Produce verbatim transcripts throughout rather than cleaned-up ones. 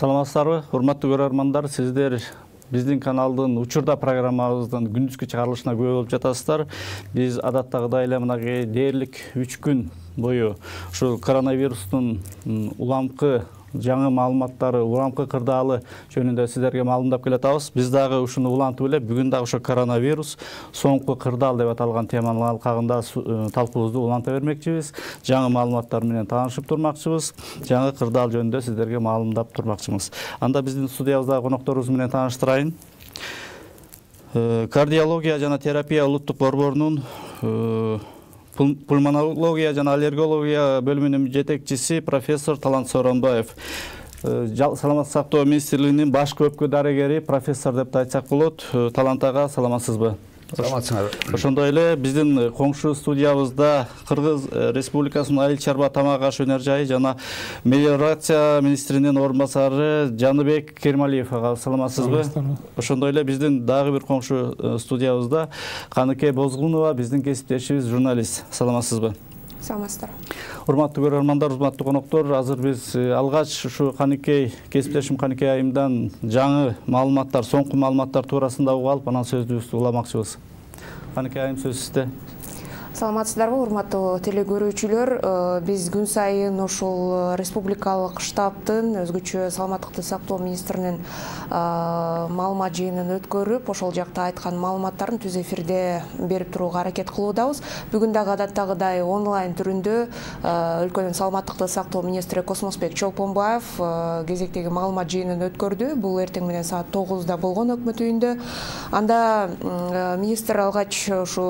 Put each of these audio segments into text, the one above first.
Саламатсыздарбы, урматтуу көрөрмандар, сиздер биздин каналдын учурда программабыздын күндүзгү чыгарылышына күбө болуп жатасыздар. Биз адаттагыдай эле мынагы дээрлик үч күн бою ушу коронавирустун уламкы жаңы маалыматтары, уламкы кырдаалы жөнүндө сиздерге маалымдап келатабыз. Биз дагы ушуну улантып эле бүгүн дагы ошо коронавирус соңку кырдаал деп аталган теманын алкагында талкуубузду уланта бермекчибиз. Жаңы маалыматтар менен таанышып турмакчыбыз. Жаңы кырдаал жөнүндө сиздерге маалымдап турмакчыбыз. Анда биздин студиябыздагы конокторубуз менен тааныштырайын. Кардиология жана терапия улуттук борборунун пульмонология жана аллергология бөлүмүнүн жетекчиси профессор Талант Сооронбаев. Саламаттык сактоо министрлигинин башкы өпкө дарыгери профессор деп айтсак болот. Талант ага, саламатсызбы? Саламатсыңар. Ошондой эле биздин коңшу студиябызда Кыргыз Республикасынын Айыл чарба тамак аш өнөр жайы жана мелиорация министринин орун басары Жаныбек Кермалиев ага, саламатсызбы? Ошондой эле биздин дагы бир коңшу студиябызда Каныкей Бозгунова, биздин кесиптешибиз, журналист. Саламатсызбы? Саламатсыздар. Урматтуу көрөрмандар, урматтуу коноктор, азыр биз алгач ушу Каныкей кесиптешим Каныкей айымдан жаңы маалыматтар, соңку маалыматтар туурасында угуп алып, анан сөзүбүздү уламакчыбыз. Каныкей айым, сөз сизде. Саламатсыздарбы, урматтуу телекөрүүчүлөр. Биз күн сайын ушул республикалык штабтын өзгөчө саламаттыкты сактоо министринин маалымат жыйынын өткөрүп, ошол жакта айткан маалыматтарын түз эфирде берип турууга аракет кылуудабыз. Бүгүн дагы адаттагыдай онлайн түрүндө өлкөнүн саламаттыкты сактоо министри Космосбек Чолпонбаев кезектеги маалымат жыйынын өткөрдү. Бул эртең менен саат тогузда болгон өкмөт үйүндө. Анда министр алгач ушу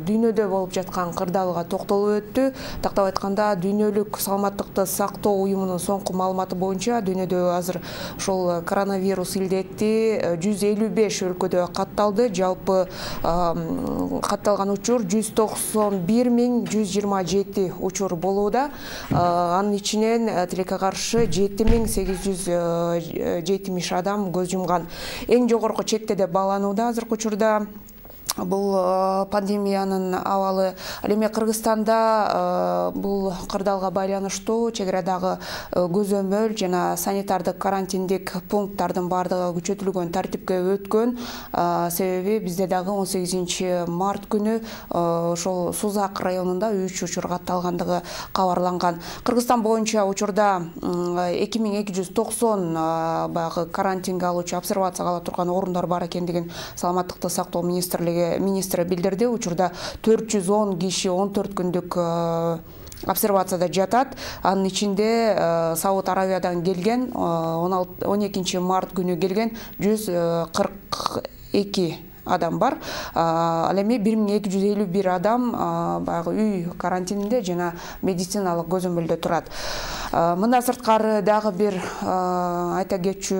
дүйнөдө болуп жаткан кырдаалга токтолуп өттү. Тактап айтканда, дүйнөлүк саламаттыкты сактоо уюмунун соңку маалыматы боюнча дүйнөдө азыр ушул коронавирус илдети жүз элүү беш өлкөдө катталды. Жалпы катталган учур жүз токсон бир миң жүз жыйырма жети учур болууда. Анын ичинен тилекке каршы жети миң сегиз жүз жетимиш адам көз жумган. Эң жогорку четте деп бааланууда азыркы учурда. Бул пандемиянын абалы. Ал эми Кыргызстанда бул кырдаалга байланыштуу чек арадагы көзөмөл жана санитардык карантиндик пункттардын бардыгы күчөтүлгөн тартипке өткөн. Себеби бизде дагы он сегизинчи март күнү ошол Сузак районунда үч учур катталгандыгы кабарланган. Кыргызстан боюнча учурда эки миң эки жүз токсон баягы карантинге алуучу, обсервацияга ала турган орундар бар экендигин саламаттыкты сактоо министрлиги министри билдирди. Учурда төрт жүз он киши он төрт күндүк обсервацияда жатат. Анын ичинде Сауд Аравиядан келген, он экинчи март күнү келген жүз кырк эки адам бар. Ал эми бир миң эки жүз элүү бир адам баягы үй карантининде жана медициналык көзөмөлдө турат. Мындан сырткары дагы бир айта кетчү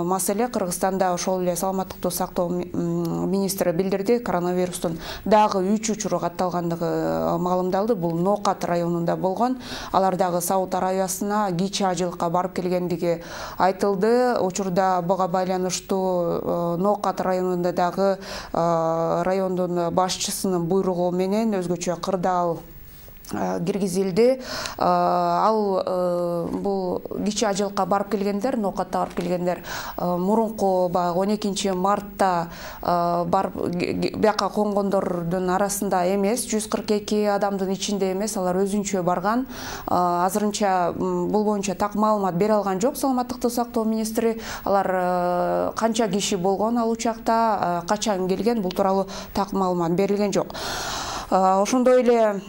маселе. Кыргызстанда ошол эле саламаттыкты сактоо министри билдирди, коронавирустун дагы үч учуру катталгандыгы маалымдалды. Бул Ноокат районунда болгон. Алар дагы Сауд Аравиясына кичи ажылыкка барып келгендиги айтылды. Учурда буга байланыштуу Ноокат районунда дагы райондун башчысынын буйругу менен өзгөчө кырдаал киргизилди. Ал бул кичи ажылыкка барып келгендер, Ноокатта барып келгендер мурунку баягы он экинчи мартта барып бияка конгондордун арасында эмес, жүз кырк эки адамдын ичинде эмес, алар өзүнчө барган. Азырынча бул боюнча так маалымат бере алган жок саламаттыкты сактоо министри. Алар канча киши болгон ал учакта, качан келген, бул тууралуу так маалымат берилген жок. Ошондой эле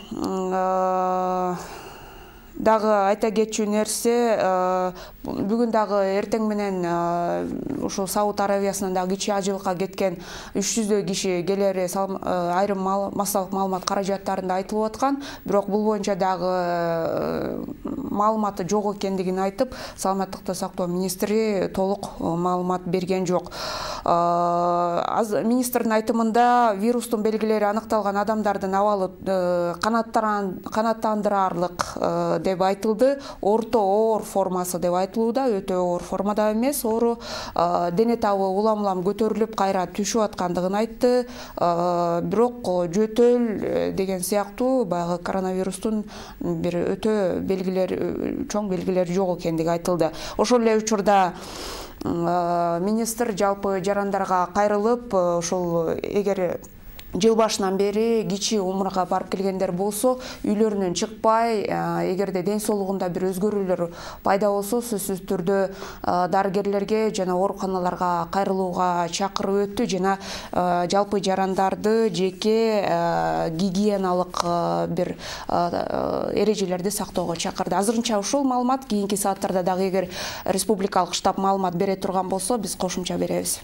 дагы айта кетчү нерсе, бүгүн дагы эртең менен ушул Сауд Аравиясынан дагы кичи ажылыкка кеткен үч жүздөй киши келери айрым массалык маалымат каражаттарында айтылып аткан. Бирок бул боюнча дагы маалыматы жок экендигин айтып, саламаттыкты сактоо министри толук маалымат берген жок. Министрдин айтымында вирустун белгилери аныкталган адамдардын абалы канааттандырарлык деп айтылды. Орто оор формасы деп айтылууда, өтө оор формада эмес, оору дене табы улам-улам көтөрүлүп кайра түшүп аткандыгын айтты. Бирок жөтөл деген сыяктуу баягы коронавирустун бир өтө белгилер, чоң белгилер жок экендиги айтылды. Ошол эле учурда министр жалпы жарандарга кайрылып, ошол эгер жыл башынан бери кичи умурга барып келгендер болсо, үйлөрүнөн чыкпай, эгерде ден соолугунда бир өзгөрүүлөр пайда болсо, сөзсүз түрдө дарыгерлерге жана ооруканаларга кайрылууга чакырып өттү, жана жалпы жарандарды жеке гигиеналык бир эрежелерди сактоого чакырды. Азырынча ушул маалымат, кийинки сааттарда дагы эгер республикалык штаб маалымат бере турган болсо, биз кошумча беребиз.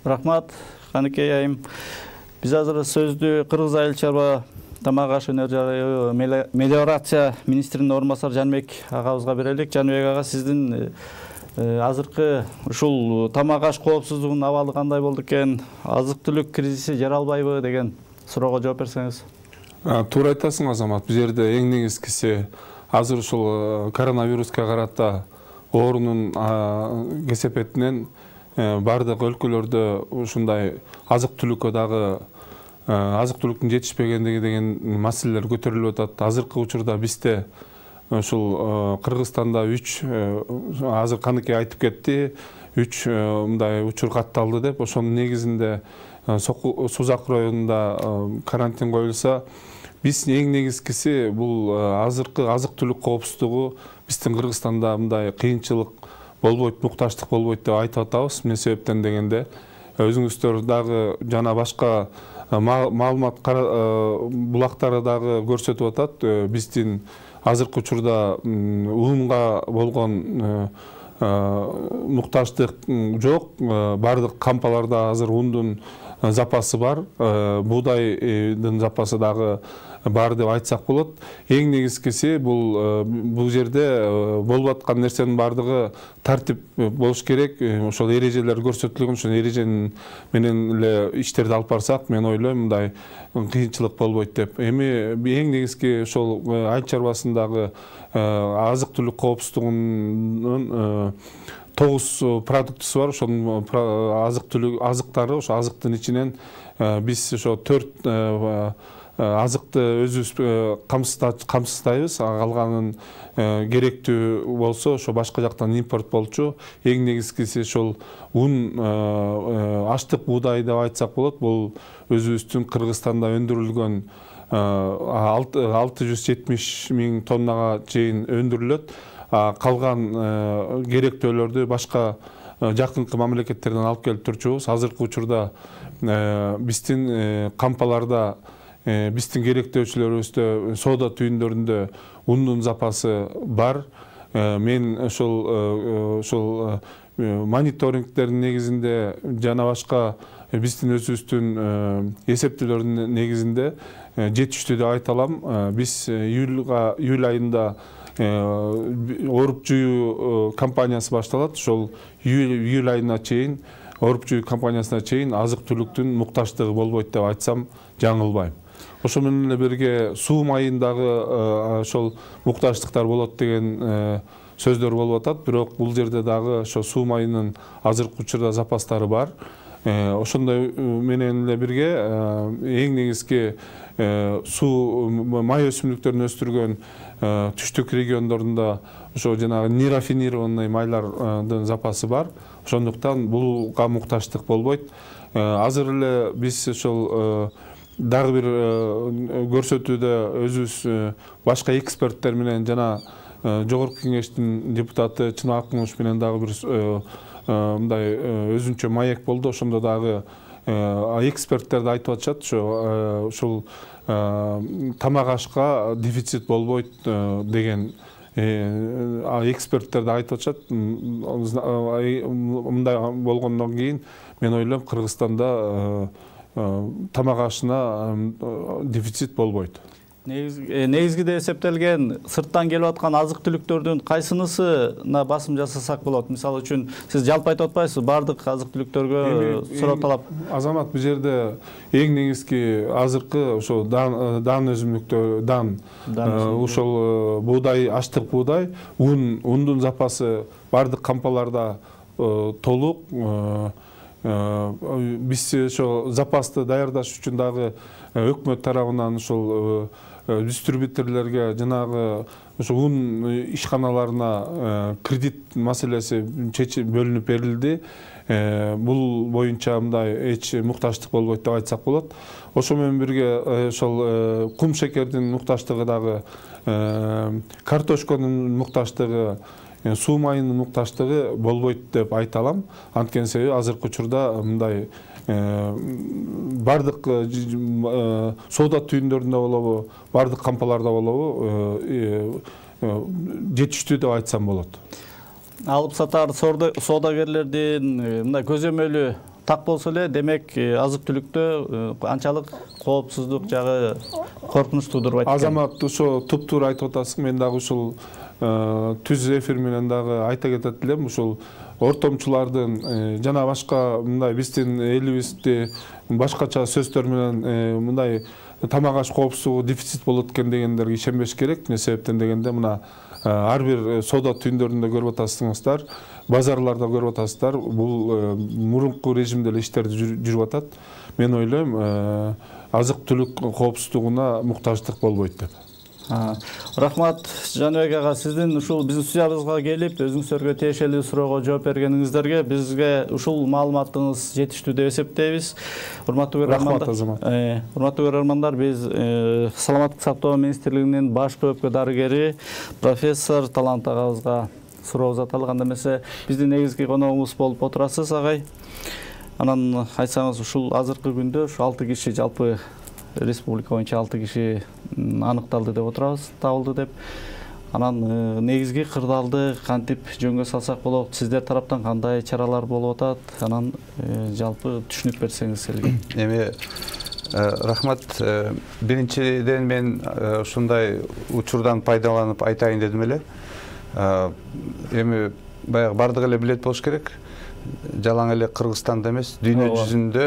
Рахмат, Каныкей айым. Биз азыр сөздү Кыргыз айыл чарба тамак аш өнөр жайы мелиорация министринин орун басары Жанбек агабызга берелик. Жанбек ага, сиздин азыркы ушул тамак аш коопсуздугунун абалы кандай болду экен? Азык-түлүк кризиси жаралбайбы деген суроого жооп берсеңиз. Туура айтасың, Азамат. Бул жерде эң негизгиси азыр ушул коронавируска карата оорунун кесепетинен бардык өлкөлөрдө ушундай азык-түлүккө дагы азык-түлүктүн жетишпегендиги деген маселелер көтөрүлүп атат. Азыркы учурда бизде ушул Кыргызстанда үч, азыр Каныкей айтып кетти, үч мындай учур катталды деп. Ошонун негизинде Сузак районунда карантин коюлса, биз эң негизгиси бул азыркы азык-түлүк коопсуздугу биздин Кыргызстанда мындай кыйынчылык болбойт, мукташтык болбойт деп айтып атабыз. Эмне себептен дегенде, өзүңүздөр дагы жана башка маалымат булактары дагы көрсөтүп атат. Биздин азыркы учурда унга болгон мукташтык жок. Бардык кампаларда азыр ундун запасы бар, буудайдын запасы дагы бар деп айтсак болот. Эң негизгиси бул бул жерде болуп аткан нерсенин бардыгы тартип болуш керек. Ошол эрежелер көрсөтүлгөн, ошол эреженин менен эле иштерди алып барсак, мен ойлойм мындай кыйынчылык болбойт деп. Эми эң негизги ошол айыл чарбасындагы азык-түлүк коопсуздугунун тогуз продуктысы бар. Ошонун азык-түлүк азыктары, ошо азыктын ичинен биз ошо төрт азыкты өзүбүз камсыздайбыз, калганын керектүү болсо ошо башка жактан импорт болчу. Эң негизгиси ошол ун, аштык буудай деп айтсак болот. Бул өзүбүздүн Кыргызстанда өндүрүлгөн алты жүз жетимиш миң тоннага чейин өндүрүлөт. Калган керектөөлөрдү башка жакынкы мамлекеттерден алып келип турчубуз. Азыркы учурда биздин кампаларда, биздин керектөөчүлөрүбүздө, соода түйүндөрүндө ундун запасы бар. Мен ошол ошол мониторингдердин негизинде жана башка биздин өзүбүздүн эсептөөлөрдүн негизинде жетиштүү деп айта алам. Биз июлга июль айында ооруп жууу кампаниясы башталат. Ошол июль айына чейин, ооруп жууу кампаниясына чейин азык-түлүктүн мукташтыгы болбойт деп айтсам жаңылбайм. Ошо менен эле бирге суу майындагы ошол мукташтыктар болот деген сөздөр болуп атат. Бирок бул жерде дагы ошо суу майынын азыркы учурда запастары бар. Ошондой менен эле бирге эң негизги суу май өсүмдүктөрүн өстүргөн түштүк региондорунда ошо жанагы нерафинированный майлардын запасы бар. Ошондуктан булга мукташтык болбойт. Азыр эле биз ошол дагы бир көрсөтүүдө өзүбүз башка эксперттер менен жана жогорку кеңештин депутаты Чынок Акмуш менен дагы бир мындай өзүнчө маек болду. Ошондо дагы эксперттер да айтып атышат, ошо ушул тамак ашка дефицит болбойт деген эксперттер да айтып атышат. Мындай болгондон кийин мен ойлойм Кыргызстанда тамак ашына дефицит болбойт. негизгиде эсептелген сырттан келип аткан азык түлүктөрдүн кайсынысына басым жасасак болот? Мисалы үчүн сиз жалпы айтып атпайсызбы, бардык азык түлүктөргө суроо талап? Азамат, бул жерде эң негизги азыркы ошо дан өсүмдүктөр, дан, ошол буудай, ачтык буудай, ун, ундун запасы бардык кампаларда толук. Биз ошо запасты даярдаш үчүн дагы өкмөт тарабынан ушул дистрибьюторлорго жанагы ошо ун ишканаларына кредит маселеси бөлүнүп берилди. Бул боюнча мындай эч мукташтык болбойт деп айтсак болот. Ошо менен бирге ошол кум шекердин мукташтыгы дагы, картошканын мукташтыгы, суу майынын мукташтыгы болбойт деп айта алам. Анткени себеби азыркы учурда мындай бардык соода түйүндөрүндө болобу, бардык кампаларда болобу жетиштүү деп айтсам болот. Алып сатар соодагерлердин мындай көзөмөлү так болсо эле, демек азык түлүктө анчалык коопсуздук жагы коркунуч туудурбайт. Азамат, ошо туптуура айтып атасың. Мен дагы ушул түз эфир менен дагы айта кетет элем. Ушул ортомчулардын жана башка мындай биздин элибизде башкача сөздөр менен мындай тамак аш коопсуздугу дефицит болот экен дегендерге ишенбеш керек. Эмне себептен дегенде, мына ар бир соода түйүндөрүндө көрүп атасыңыздар, базарларда көрүп атасыздар, бул мурунку режимде эле иштерди жүрүп атат. Мен ойлойм, азык түлүк коопсуздугуна муктаждык болбойт деп. Рахмат Жаныбек ага, сиздин ушул биздин студиябызга келип, өзүңүзгө тиешелүү суроого жооп бергениңиздерге бизге ушул маалыматыңыз жетиштүү деп эсептейбиз. Урматтуу көрөрмандар. Рахмат, Азамат. Урматтуу көрөрмандар, биз Саламаттык сактоо министрлигинин баш бөлүккө дарыгери профессор Талант агабызга суроо узаталык. Анда эмесе биздин негизги коногубуз болуп отурасыз, агай. Анан айтсаңыз, ушул азыркы күндө ушу алты киши, жалпы республика боюнча алты киши аныкталды деп отурабыз, табылды деп. Анан негизги кырдаалды кантип жөнгө салсак болот? Сиздер тараптан кандай чаралар болуп атат? Анан жалпы түшүнүп берсеңиз элге. Эми рахмат. Биринчиден мен ушундай учурдан пайдаланып айтайын дедим эле. Эми баягы бардык эле билет болуш керек. Жалаң эле Кыргызстанда эмес, дүйнө жүзүндө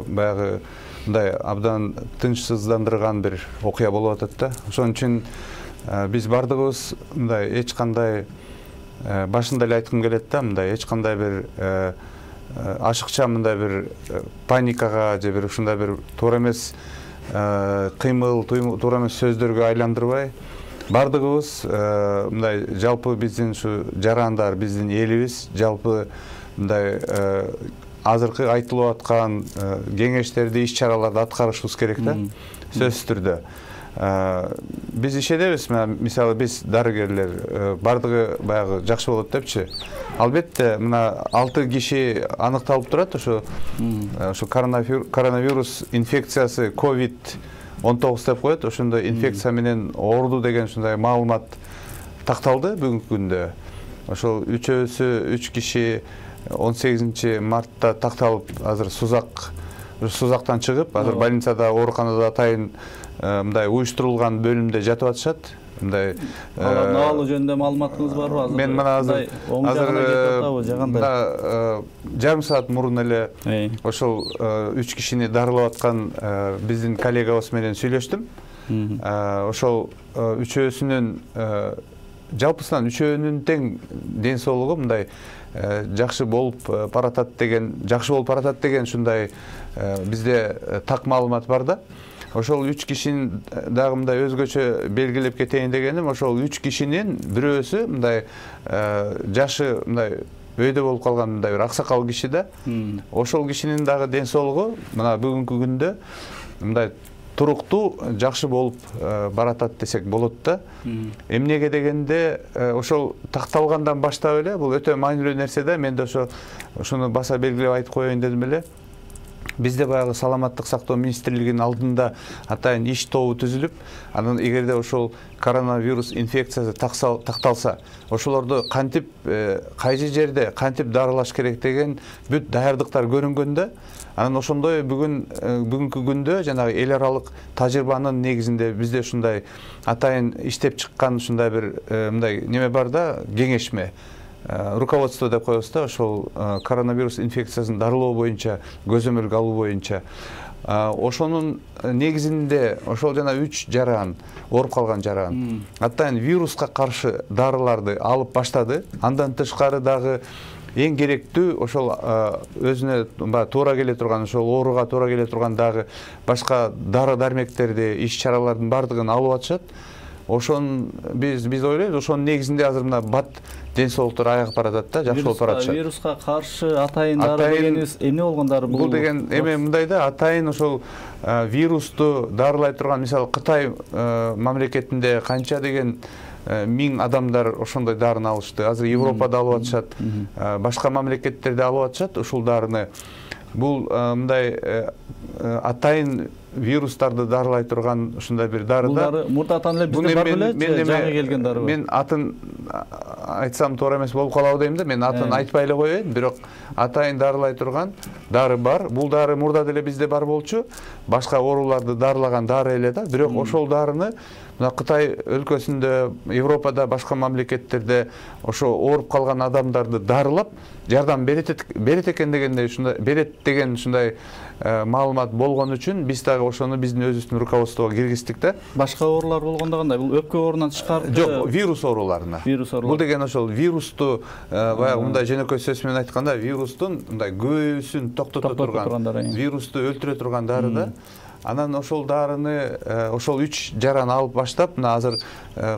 баягы мындай абдан тынчсыздандырган бир окуя болуп атат да. Ошон үчүн биз бардыгыбыз мындай эч кандай башында эле айткым келет да, мындай эч кандай бир ашыкча мындай бир паникага же бир ушундай бир туура эмес кыймыл, туура эмес сөздөргө айландырбай, бардыгыбыз мындай жалпы биздин ушу жарандар, биздин элибиз жалпы мындай азыркы айтылып аткан кеңештерди, иш чараларды аткарышыбыз керек да, сөзсүз түрдө. Биз ишенебиз, мисалы биз дарыгерлер бардыгы баягы жакшы болот депчи. Албетте, мына алты киши аныкталып турат, ошо ошо коронавирус инфекциясы ковид он тогуз деп коет, ошондой инфекция менен ооруду деген ушундай маалымат такталды бүгүнкү күндө. Ошол үчөөсү үч киши он сегизинчи мартта такталып, азыр Сузак Сузактан чыгып, азыр больницада, ооруканада атайын мындай уюштурулган бөлүмдө жатып атышат. Мындай абалы жөнүндө маалыматыңыз барбы? Азыр мен мына азыр азыр жарым саат мурун эле ошол үч кишини дарылап аткан биздин коллегабыз менен сүйлөштүм. Ошол үчөөсүнүн жалпысынан үчөөнүн тең ден соолугу мындай жакшы болуп баратат деген, жакшы болуп баратат деген ушундай бизде так маалымат бар да. Ошол үч кишинин дагы мындай өзгөчө белгилеп кетейин дегеним, ошол үч кишинин бирөөсү мындай жашы мындай өйдө болуп калган мындай бир аксакал киши да. Ошол кишинин дагы ден соолугу мына бүгүнкү күндө мындай туруктуу, жакшы болуп баратат десек болот да. Эмнеге дегенде, ошол такталгандан баштап эле, бул өтө маанилүү нерсе да. Мен да ошо ошону баса белгилеп айтып коеюн дедим эле. бизде баягы саламаттык сактоо министрлигинин алдында атайын иш тобу түзүлүп, анан эгерде ошол коронавирус инфекциясы такталса, ошолорду кантип кайсы жерде кантип дарылаш керек деген бүт даярдыктар көрүнгөндө, анан ошондой бүгүн бүгүнкү күндө жанагы эл аралык тажрыйбанын негизинде бизде ушундай атайын иштеп чыккан ушундай бир мындай неме бар да, кеңешме, руководство деп коебуз да, ошол коронавирус инфекциясын дарылоо боюнча, көзөмөлгө алуу боюнча. Ошонун негизинде ошол жана үч жаран, ооруп калган жаран атайын вируска каршы дарыларды алып баштады. Андан тышкары дагы эң керектүү ошол өзүнө туура келе турган, ошол ооруга туура келе турган дагы башка дары дармектерди, иш чаралардын бардыгын алып атышат. Ошон биз биз ойлойбуз, ошонун негизинде азыр мына бат ден соолуктар аягып баратат да, жакшы болуп баратышат. Вируска каршы атайын дары дегенибиз эмне болгон дары бул? Бул деген эме мындай да, атайын ошол вирусту дарылай турган, мисалы Кытай мамлекетинде канча деген миң адамдар ошондой дарыны алышты. Азыр Европада алып атышат, башка мамлекеттерде алып атышат ушул дарыны. Бул мындай атайын вирустарды дарылай турган ушундай бир дары да. Бул дары мурдатан эле бизде бар беле, жаңы келген дары бар. Мен атын айтсам туура эмес болуп калабы дейм да, мен атын айтпай эле коеюн, бирок атайын дарылай турган дары бар. Бул дары мурда деле бизде бар болчу, башка ооруларды дарылаган дары эле да, бирок ошол дарыны мына Кытай өлкөсүндө, Европада, башка мамлекеттерде ошо ооруп калган адамдарды дарылап жардам берет берет экен дегенде ушундай берет деген ушундай маалымат болгон үчүн биз дагы ошону биздин өзүбүздүн руководствого киргиздик да. Башка оорулар болгондо кандай? Бул өпкө оорунан тышкары? Жок, вирус ооруларына. Вирус оорулар. Бул деген ошол вирусту баягы мындай жөнөкөй сөз менен айтканда, вирустун мындай көбөйүүсүн токтото турган, вирусту өлтүрө турган дары да. Анан ошол дарыны ошол үч жаран алып баштап, мына азыр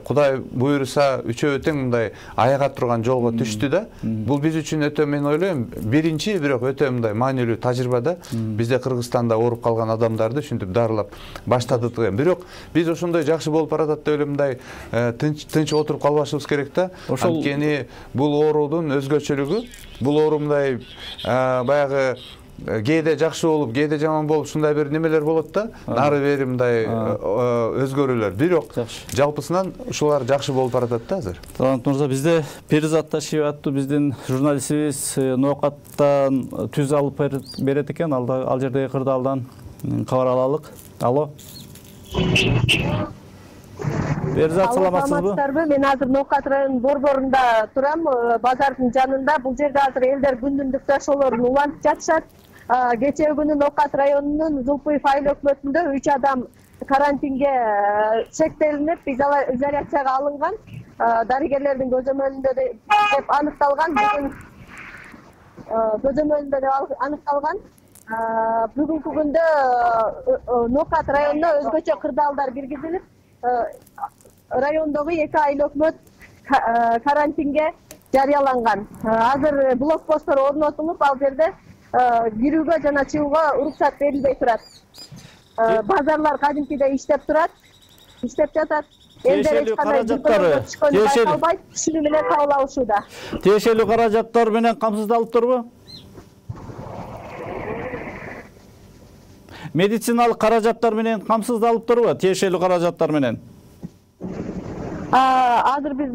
Кудай буйруса үчөө тең мындай аяга турган жолго түштү да. Бул биз үчүн өтө, мен ойлойм, биринчи, бирок өтө мындай маанилүү тажрыйба да. Бизде Кыргызстанда ооруп калган адамдарды ушинтип дарылап баштадык деген. Бирок биз ошондой жакшы болуп баратат деп эле мындай тынч тынч отуруп калбашыбыз керек да. Анткени бул оорудун өзгөчөлүгү, бул оору мындай баягы кээде жакшы болуп, кээде жаман болуп, ушундай бир немелер болот да, нары бери мындай өзгөрүүлөр. Бирок жалпысынан ушулар жакшы болуп баратат да азыр. Талант мырза, бизде Перизат Ташиева аттуу биздин журналистибиз ноокаттан түз алып берет экен. Ал жердеги кырдаалдан кабар алалык. Алло. Перизат, саламатсызбы? Мен азыр Ноокат районунун борборунда турам, базардын жанында. Бул жерде азыр элдер күндүндүк жашоолорун улантып жатышат. Кечээ күнү Ноокат районунун Зулпуев айыл өкмөтүндө үч адам карантинге чектелинип, изоляцияга алынган. Дарыгерлердин көзөмөлүндө деп аныкталган. Бүгүн көзөмөлүндө деп аныкталган. Бүгүнкү күндө Ноокат районуна өзгөчө кырдаалдар киргизилип, райондогу эки айыл өкмөт карантинге жарыяланган. Азыр блокпосттор орнотулуп, ал жерде кирүүгө жана чыгууга уруксат берилбей турат. Базарлар кадимкидей иштеп турат, иштеп жатат. Элдер эч кандай чыкканы байкалбайт, түшүнүү менен кабыл алышууда. Тиешелүү каражаттар менен камсыздалыптырбы? Медициналык каражаттар менен камсыздалыптырбы? Тиешелүү каражаттар менен? Азыр биз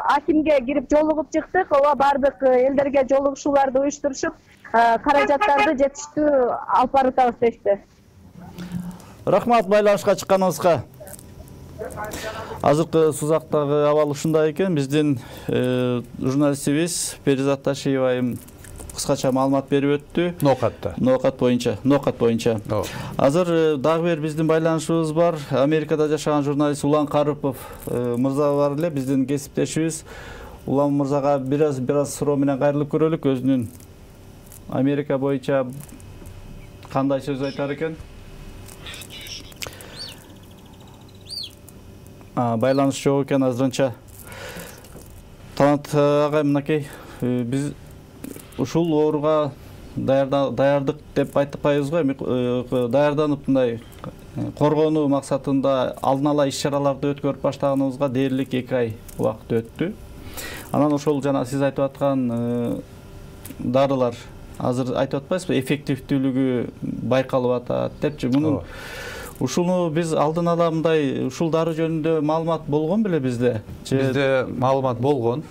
акимге кирип жолугуп чыктык. Ооба, бардык элдерге жолугушууларды уюштурушуп, каражаттарды жетиштүү алып баратабыз дешти. Рахмат байланышка чыкканыңызга. Азыркы Сузактагы абал ушундай экен. Биздин журналистибиз Перизат Ташиева айым кыскача маалымат берип өттү. Ноокатта. Ноокат боюнча, Ноокат боюнча. Азыр дагы бир биздин байланышыбыз бар. Америкада жашаган журналист Улан Карыпов мырза бар эле, биздин кесиптешибиз. Улан мырзага бир аз суроо менен кайрылып көрөлүк. Өзүнүн Америка боюнча кандай сөз айтар экен? Байланыш жок экен азырынча. Талант агай, мынакей, биз ушул ооруга даярдык деп айтпайбызбы, эми даярданып мындай коргонуу максатында алдын ала иш чараларды өткөрүп баштаганыбызга дээрлик эки ай убакыт өттү. Анан ошол жана сиз айтып аткан дарылар азыр айтып атпайсызбы, эффективдүүлүгү байкалып атат депчи. Мунун ушуну биз алдын ала мындай ушул дары жөнүндө маалымат болгон беле бизде? Бизде маалымат болгон.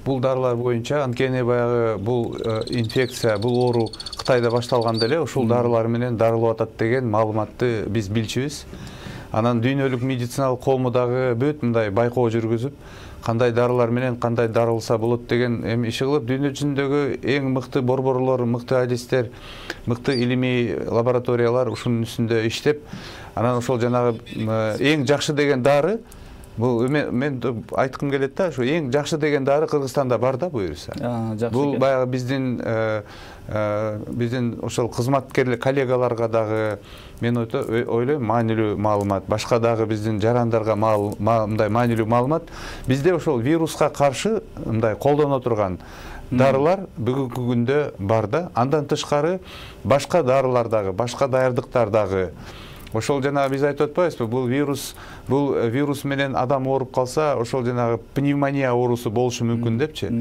Бул дарылар боюнча, анткени баягы бул инфекция, бул оору Кытайда башталганда эле ушул дарылар менен дарылап атат деген маалыматты биз билчүбүз. Анан дүйнөлүк медициналык коому дагы бүт мындай байкоо жүргүзүп, кандай дарылар менен кандай дарылса болот деген эми иши кылып, дүйнө жүзүндөгү эң мыкты борборлор, мыкты адистер, мыкты илимий лабораториялар ушунун үстүндө иштеп, анан ошол жанагы эң жакшы деген дары, бул мен айткым келет да, ушу эң жакшы деген дары Кыргызстанда бар да буюрса. Бул баягы биздин биздин ошол кызматкерлер коллегаларга дагы мен ойлойм маанилүү маалымат, башка дагы биздин жарандарга мындай маанилүү маалымат. Бизде ошол вируска каршы мындай колдоно турган дарылар бүгүнкү күндө бар да. Андан тышкары башка дарылар дагы, башка даярдыктар дагы. Ошол жана биз айтып атпайбызбы, бул вирус, бул вирус менен адам ооруп калса, ошол жанагы пневмония оорусу болушу мүмкүн депчи.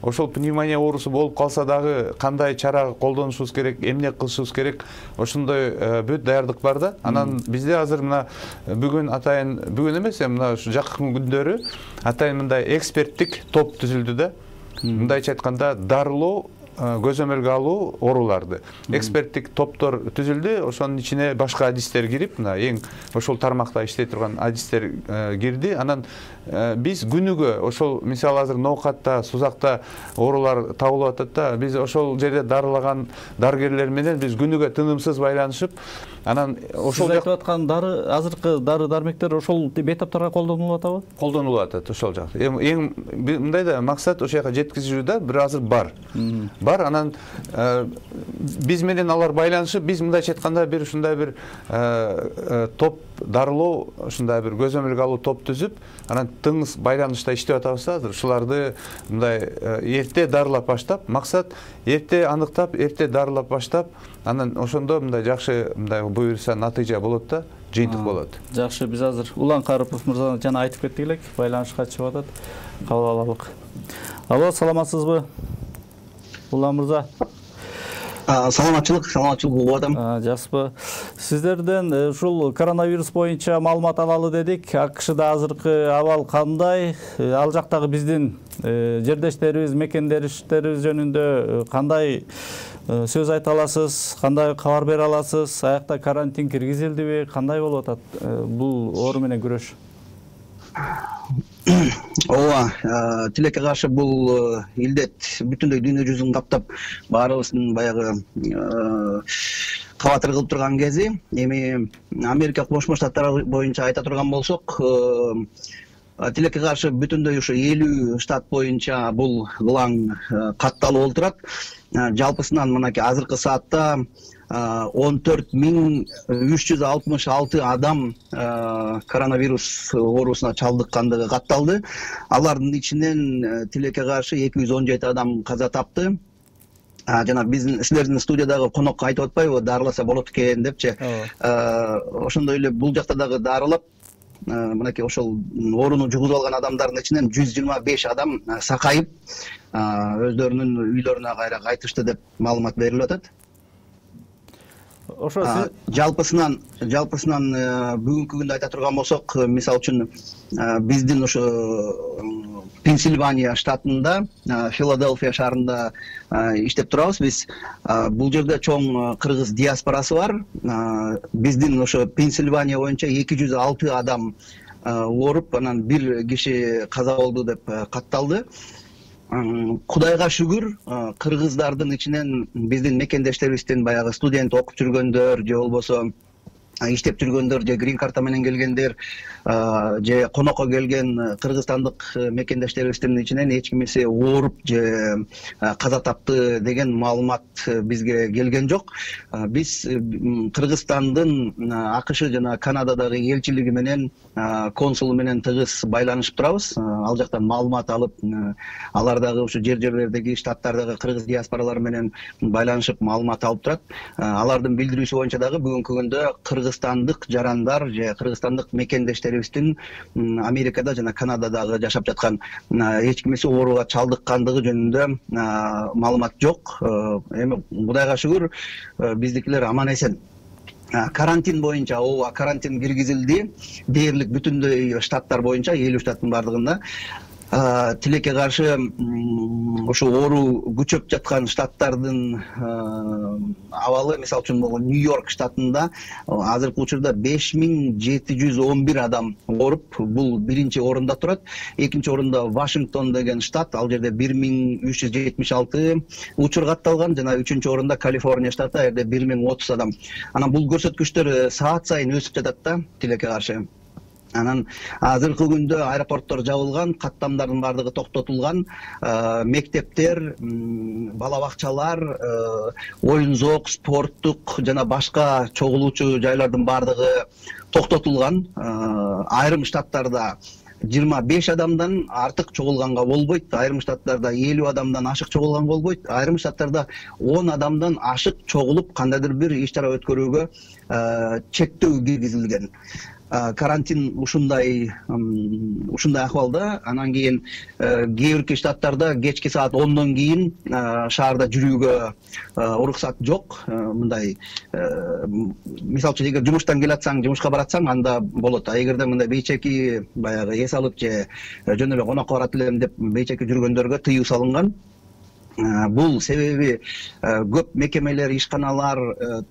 Ошол пневмония оорусу болуп калса дагы кандай чара колдонушубуз керек, эмне кылышыбыз керек, ошондой бүт даярдык бар да. Анан бизде азыр мына бүгүн атайын, бүгүн эмес, мына жакын күндөрү атайын мындай эксперттик топ түзүлдү да. Мындайча айтканда, дарылоо, көзөмөлгө алуу ооруларды эксперттик топтор түзүлдү. Ошонун ичине башка адистер кирип, мына эң ошол тармакта иштей турган адистер кирди. Анан биз күнүгө ошол мисалы азыр ноокатта, сузакта оорулар табылып атат да. Биз ошол жерде дарылаган дарыгерлер менен биз күнүгө тынымсыз байланышып, анан ошол сиз айтып аткан дары, азыркы дары дармектер ошол бейтаптарга колдонулуп атабы? Колдонулуп атат ошол жакта. Эми эң мындай да максат ошол жака жеткизүү да, бир азыр бар. Бар, анан биз менен алар байланышып, биз мындайча айтканда бир ушундай бир топ дарылоо, ушундай бир көзөмөлгө алуу топ түзүп, анан тыңыз байланышта иштеп атабыз да азыр. Ушуларды мындай эрте дарылап баштап, максат эрте аныктап, эрте дарылап баштап, анан ошондо мындай жакшы мындай буюрса натыйжа болот да, жыйынтык болот. Жакшы, биз азыр Улан Карипов мырза жана айтып кеттик элек, байланышка чыгып атат. Кабыл алалык. Алло, саламатсызбы? Улан мырза. Саламатчылык, саламатчылык болуп атам. Жакшыбы. Сиздерден ушул коронавирус боюнча маалымат алалы дедик. АКШда азыркы абал кандай? Ал жактагы биздин жердештерибиз, мекендештерибиз жөнүндө кандай сөз айта аласыз, кандай кабар бере аласыз? Аякта карантин киргизилдиби? Кандай болуп атат бул оору менен күрөш? Ооба, тилекке каршы бул илдет бүтүндөй дүйнө жүзүн каптап, баарыбыздын баягы кабатыр кылып турган кези. Эми Америка Кошмо Штаттары боюнча айта турган болсок, тилекке каршы бүтүндөй ушу элүү штат боюнча бул кылаң катталып олтурат. Жалпысынан мынакей азыркы саатта он төрт миң үч жүз алтымыш алты адам коронавирус оорусуна чалдыккандыгы катталды. Алардын ичинен тилекке каршы эки жүз он жети адам каза тапты. Жана биздин силердин студиядагы конок айтып атпайбы, дарыласа болот экен депчи. Ошондой эле бул жакта дагы дарылап, мынакей ошол ооруну жугузуп алган адамдардын ичинен жүз жыйырма беш адам сакайып, өздөрүнүн үйлөрүнө кайра кайтышты деп маалымат берилип атат. Ошо жалпысынан жалпысынан бүгүнкү күндө айта турган болсок, мисалы үчүн биздин ошо Пенсильвания штатында, Филадельфия шаарында иштеп турабыз. Биз бул жерде чоң кыргыз диаспорасы бар. Биздин ошо Пенсильвания боюнча эки жүз алты адам ооруп, анан бир киши каза болду деп катталды. Кудайга шүгүр, кыргыздардын ичинен биздин мекендештерибиздин баягы студент окуп жүргөндөр, же болбосо иштеп жүргөндөр, же грин карта менен келгендер, же конокко келген кыргызстандык мекендештерибиздин ичинен эч кимиси ооруп же каза тапты деген маалымат бизге келген жок. Биз Кыргызстандын АКШ жана Канададагы элчилиги менен, консулу менен тыгыз байланышып турабыз. Ал жактан маалымат алып, алардагы ушу жер-жерлердеги штаттардагы кыргыз диаспоралары менен байланышып маалымат алып турат. Алардын билдирүүсү боюнча дагы бүгүнкү күндө кыргыз кыргызстандык жарандар же кыргызстандык мекендештерибиздин Америкада жана Канададагы жашап жаткан эч кимиси ооруга чалдыккандыгы жөнүндө маалымат жок. Эми Кудайга шүгүр биздикилер аман эсен. Карантин боюнча ооба карантин киргизилди. Дээрлик бүтүндөй штаттар боюнча элүү штаттын бардыгында. Тилекке каршы ошо оору күчөп жаткан штаттардын абалы, мисалы үчүн Нью-Йорк штатында азыркы учурда беш миң жети жүз он бир адам ооруп, бул биринчи орунда турат. Экинчи орунда Вашингтон деген штат, ал жерде бир миң үч жүз жетимиш алты учур катталган, жана үчүнчү орунда Калифорния штаты, ал жерде бир миң отуз адам. Анан бул көрсөткүчтөр саат сайын өсүп жатат да, тилекке каршы. Анан азыркы күндө аэропорттор жабылган, каттамдардын бардыгы токтотулган, мектептер, бала бакчалар, оюн зоок, спорттук жана башка чогулуучу жайлардын бардыгы токтотулган. Айрым штаттарда жыйырма беш адамдан артык чогулганга болбойт, айрым штаттарда элүү адамдан ашык чогулганга болбойт, айрым штаттарда он адамдан ашык чогулуп кандайдыр бир иш чара өткөрүүгө чектөө киргизилген. Карантин ушундай ушундай акыбалда. Анан кийин кээ бир штаттарда кечки саат ондон кийин шаарда жүрүүгө уруксат жок. Мындай мисалы үчүн эгер жумуштан келатсаң, жумушка баратсаң, анда болот. А эгерде мындай бейчеки баягы эс алып же жөн эле конокко барат элем деп бейчеки жүргөндөргө тыюу салынган. Бул себеби көп мекемелер, ишканалар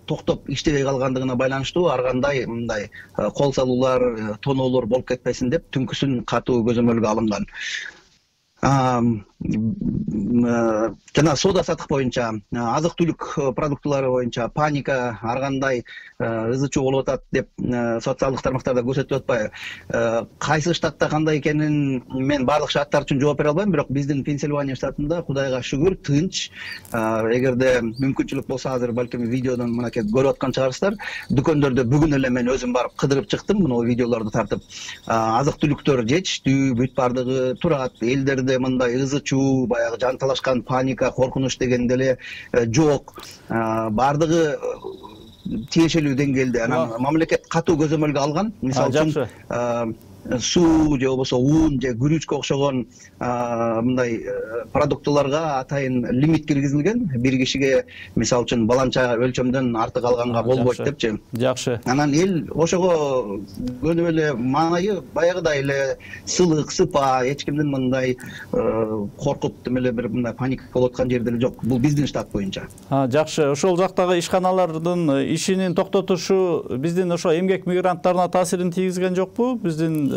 токтоп иштебей калгандыгына байланыштуу. Ар кандай мындай кол салуулар, тоноолор болуп кетпесин деп түнкүсүн катуу көзөмөлгө алынган. Жана соода сатык боюнча, азык түлүк продуктылары боюнча паника ар кандай ызы чуу болуп атат деп социалдык тармактарда көрсөтүп атпайбы? Кайсы штатта кандай экенин мен баардык штаттар үчүн жооп бере албайм, бирок биздин Пенсильвания штатында Кудайга шүгүр тынч. Эгерде мүмкүнчүлүк болсо азыр балким видеодон мынакей көрүп аткан чыгарсыздар. Дүкөндөрдө бүгүн эле мен өзүм барып кыдырып чыктым, мына видеолорду тартып. Азык түлүктөр жетиштүү, бүт баардыгы турат. Элдерде мындай ызы чуу, баягы жан талашкан паника, коркунуч деген деле жок. Баардыгы тиешелүү деңгээлде. Анан мамлекет катуу көзөмөлгө алган. Мисалы үчүн суу же болбосо ун же күрүчкө окшогон мындай продуктыларга атайын лимит киргизилген. Бир кишиге мисалы үчүн баланча өлчөмдөн артык алганга болбойт депчи. Жакшы. Анан эл ошого көнүп эле маанайы баягыдай эле сылык, сыпа, эч кимдин мындай коркуп эле бир мындай паника болуп аткан жер деле жок. Бул биздин штат боюнча. Жакшы. Ошол жактагы ишканалардын ишинин токтотушу биздин ошо эмгек мигранттарына таасирин тийгизген жокпу? Биздин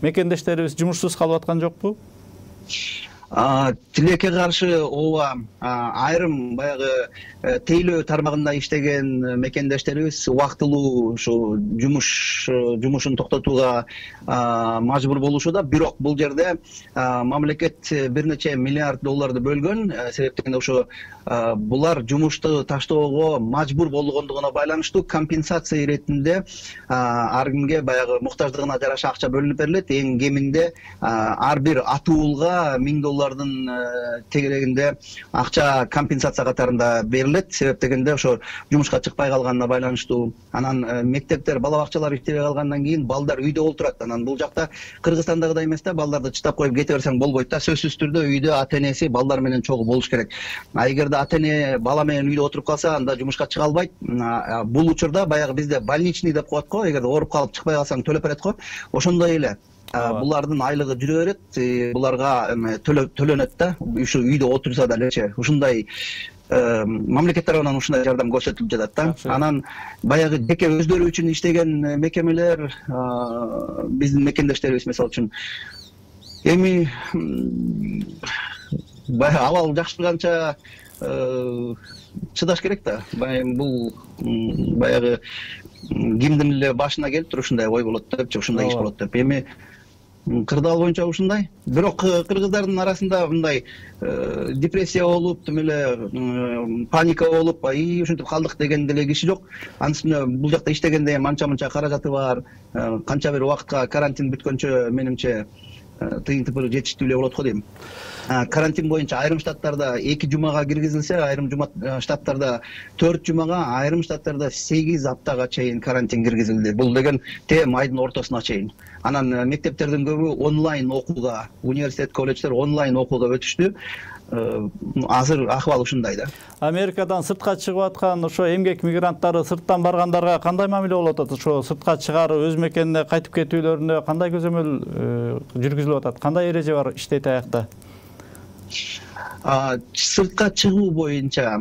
мекендештерибиз жумушсуз калып аткан жокпу? Тилекке каршы ооба айрым баягы тейлөө тармагында иштеген мекендештерибиз убактылуу ушу жумуш жумушун токтотууга мажбур болушууда. Бирок бул жерде мамлекет бир нече миллиард долларды бөлгөн. Себептен ошо булар жумушту таштоого мажбур болгондугуна байланыштуу компенсация иретинде ар кимге баягы муктаждыгына жараша акча бөлүнүп берилет. Эң кеминде ар бир атуулга миң доллардын тегерегинде акча компенсация катарында берилет. Себеп дегенде ошо жумушка чыкпай калганына байланыштуу. Анан мектептер, бала бакчалар иштебей калгандан кийин балдар үйдө олтурат. Анан бул жакта Кыргызстандагыдай эмес да, балдарды чытап коюп кете берсең болбойт да. Сөзсүз түрдө үйдө ата энеси балдар менен чогуу болуш керек. А эгерде ата эне бала менен үйдө отуруп калса, анда жумушка чыга албайт. Бул учурда баягы бизде больничный деп коет го, эгерде ооруп калып чыкпай калсаң төлөп берет го. Ошондой эле булардын айлыгы жүрө берет, буларга төлөнөт да, ушу үйдө отурса далечи. Ушундай мамлекет тарабынан ушундай жардам көрсөтүлүп жатат да. Анан баягы жеке өздөрү үчүн иштеген мекемелер, биздин мекендештерибиз мисалы үчүн эми баягы абал жакшырганча чыдаш керек да. Бул баягы кимдин эле башына келиптир ушундай ой болот депчи, ушундай иш болот деп. Эми кырдаал боюнча ушундай. Бирок кыргыздардын арасында мындай депрессия болуп, тим эле паника болуп, ай ушинтип калдык деген деле киши жок. Анын үстүнө бул жакта иштегенде манча-мынча каражаты бар. Канча бир убакытка карантин бүткөнчө менимче тыйын тыпыры жетиштүү эле болот го дейм. Карантин боюнча айрым штаттарда эки жумага киргизилсе, айрым штаттарда төрт жумага, айрым штаттарда сегиз аптага чейин карантин киргизилди. Бул деген тем айдын ортосуна чейин. Анан мектептердин көбү онлайн окууга, университет, колледждер онлайн окууга өтүштү. Азыр акыбал ушундай да. Америкадан сыртка чыгып аткан ошо эмгек мигранттары сырттан баргандарга кандай мамиле болуп атат? Ошо сыртка чыгарып өз мекенине кайтып кетүүлөрүнө кандай көзөмөл жүргүзүлүп атат? Кандай эреже бар иштейт аякта? Сыртка чыгуу боюнча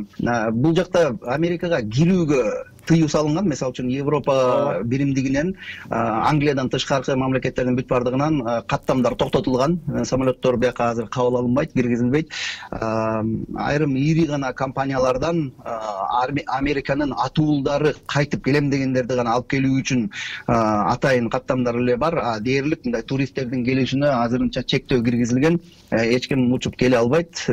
бул жакта Америкага кирүүгө тыюу салынган. Мисалы үчүн Европа биримдигинен Англиядан тышкаркы мамлекеттердин бүт бардыгынан каттамдар токтотулган. Самолеттор бияка азыр кабыл алынбайт, киргизилбейт. Айрым ири гана компаниялардан Американын атуулдары кайтып келем дегендерди гана алып келүү үчүн атайын каттамдар эле бар. Дээрлик мындай туристтердин келишине азырынча чектөө киргизилген. Эч ким учуп келе албайт.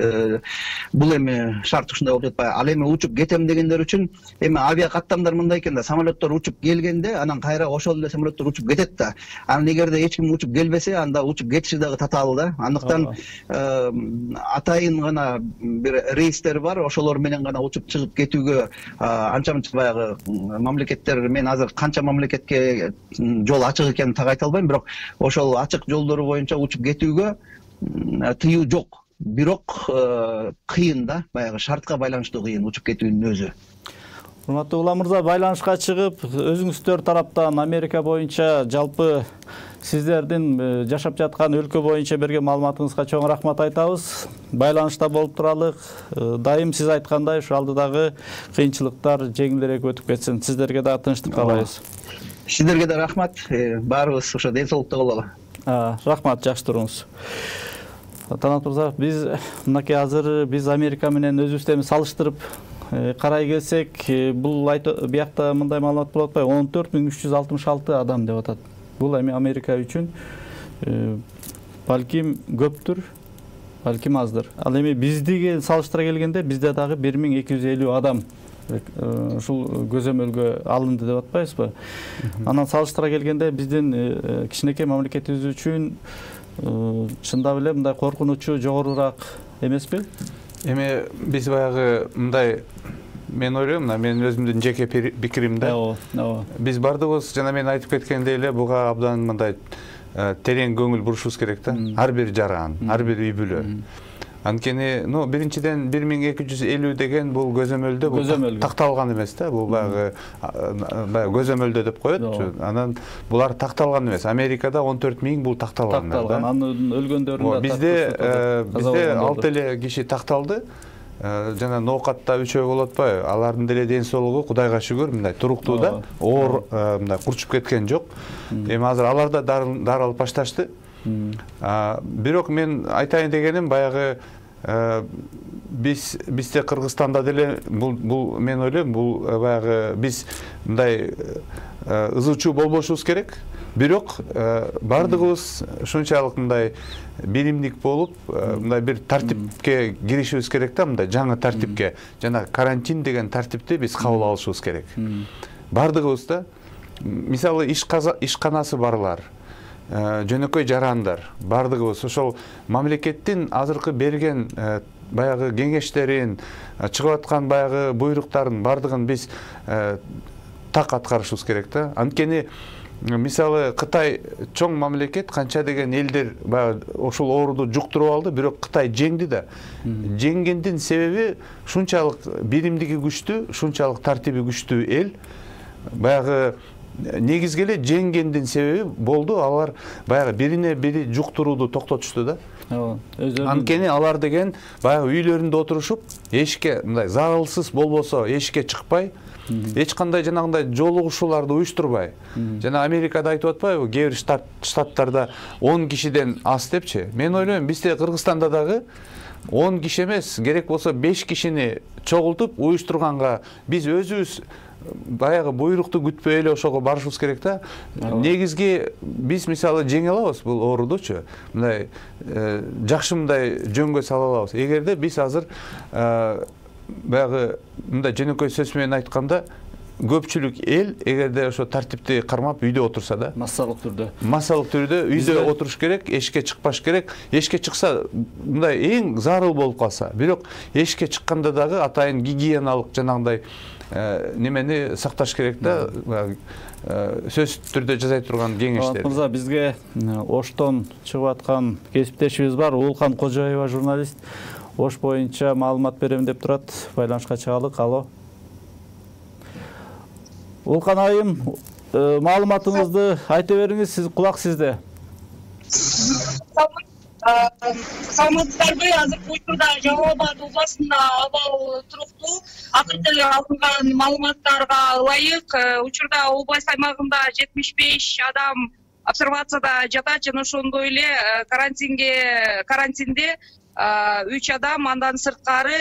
Бул эми шарт ушундай болуп жатпайбы? Ал эми учуп кетем дегендер үчүн эми авиа каттамдар мындай экен да, самолеттор учуп келгенде анан кайра ошол эле самолеттор учуп кетет да. Анан эгерде эч ким учуп келбесе, анда учуп кетиши дагы татаал да. Андыктан атайын гана бир рейстер бар, ошолор менен гана учуп чыгып кетүүгө анча-мынча баягы мамлекеттер, мен азыр канча мамлекетке жол ачык экенин так айта албайм, бирок ошол ачык жолдору боюнча учуп кетүүгө тыюу жок. Бирок кыйын да, баягы шартка байланыштуу кыйын учуп кетүүнүн өзү. Урматтуу Улам мырза, байланышка чыгып, өзүңүздөр тараптан Америка боюнча жалпы сиздердин жашап жаткан өлкө боюнча берген маалыматыңызга чоң рахмат айтабыз. Байланышта болуп туралык. Дайым сиз айткандай, ушу алдыдагы кыйынчылыктар жеңилирээк өтүп кетсин. Сиздерге да тынчтык каалайбыз. Сиздерге да рахмат. Баарыбыз ошо ден соолукта бололу. Рахмат, жакшы туруңуз. Танат мырза, биз мынакей азыр биз Америка менен өзүбүздү салыштырып карай келсек, бул биякта мындай маалымат болуп атпайбы? он төрт миң үч жүз алтымыш алты адам деп атат. Бул эми Америка үчүн балким көптүр, балким аздыр. Ал эми биздиги салыштыра келгенде бизде дагы бир миң эки жүз элүү адам ушул көзөмөлгө алынды деп атпайбызбы? Анан салыштыра келгенде биздин кичинекей мамлекетибиз үчүн чындап эле мындай коркунучу жогорураак эмеспи? Эми биз баягы мындай, мен ойлойм, мына менин өзүмдүн жеке пикирим да. Биз бардыгыбыз жана мен айтып кеткендей эле буга абдан мындай терең көңүл бурушубуз керек да. Ар бир жаран, ар бир үй бүлө. Анткени, ну, биринчиден бир миң эки жүз элүү деген бул көзөмөлдө бул такталган эмес да. Бул баягы баягы көзөмөлдө деп коет. Анан булар такталган эмес. Америкада он төрт миң бул такталган. Такталган. Анын өлгөндөрүн да бизде бизде алты эле киши такталды. Жана ноокатта үчөө болуп атпайбы? Алардын деле ден соолугу Кудайга шүгүр мындай туруктуу да. Оор мындай курчуп кеткен жок. Эми азыр алар да дары алып башташты. Бирок мен айтайын дегеним, баягы биз бизде Кыргызстанда деле бул мен ойлойм, бул баягы биз мындай ызычуу болбошубуз керек. Бирок бардыгыбыз ушунчалык мындай биримдик болуп, мындай бир тартипке киришибиз керек да, мындай жаңы тартипке. Жана карантин деген тартипти биз кабыл алышыбыз керек. Бардыгыбыз да, мисалы ишканасы барлар, жөнөкөй жарандар, бардыгыбыз ошол мамлекеттин азыркы берген баягы кеңештерин, чыгып аткан баягы буйруктарын бардыгын биз так аткарышыбыз керек да. Анткени мисалы Кытай чоң мамлекет, канча деген элдер баягы ошол ооруду жуктуруп алды, бирок Кытай жеңди да. Жеңгендин себеби шунчалык биримдиги күчтүү, шунчалык тартиби күчтүү эл. Баягы негизги эле жеңгендин себеби болду, алар баягы бирине бири жуктурууду токтотушту да. Анткени алар деген баягы үйлөрүндө отурушуп, эшикке мындай зарылсыз болбосо эшикке чыкпай, эч кандай жанагындай жолугушууларды уюштурбай. Жана Америкада айтып атпайбы, кээ бир штаттарда он кишиден аз депчи. Мен ойлойм, бизде Кыргызстанда дагы он киши эмес, керек болсо беш кишини чогултуп уюштурганга биз өзүбүз баягы буйрукту күтпөй эле ошого барышыбыз керек да. Негизги биз мисалы жеңе алабыз бул оорудучу. Мындай жакшы мындай жөнгө сала алабыз. Эгерде биз азыр баягы мындай жөнөкөй сөз менен айтканда көпчүлүк эл эгерде ошо тартипти кармап үйдө отурса да, массалык түрдө массалык түрдө үйдө отуруш керек, эшикке чыкпаш керек. Эшикке чыкса мындай эң зарыл болуп калса, бирок эшикке чыкканда дагы атайын гигиеналык жанагындай немени сакташ керек да. Сөзсүз түрдө жасай турган кеңештер. Мырза, бизге Оштон чыгып аткан кесиптешибиз бар, Уулкан Кожоева журналист. Ош боюнча маалымат берем деп турат. Байланышка чыгалык. Алло. Уулкан айым, маалыматыңызды айта бериңиз, сиз кулак сизде. Саламатсыздарбы? Азыркы учурда Жалал Абад областында абал туруктуу. Акыркы алынган маалыматтарга ылайык, учурда область аймагында жетимиш беш адам обсервацияда жатат жана ошондой эле карантинге карантинде үч адам, андан сырткары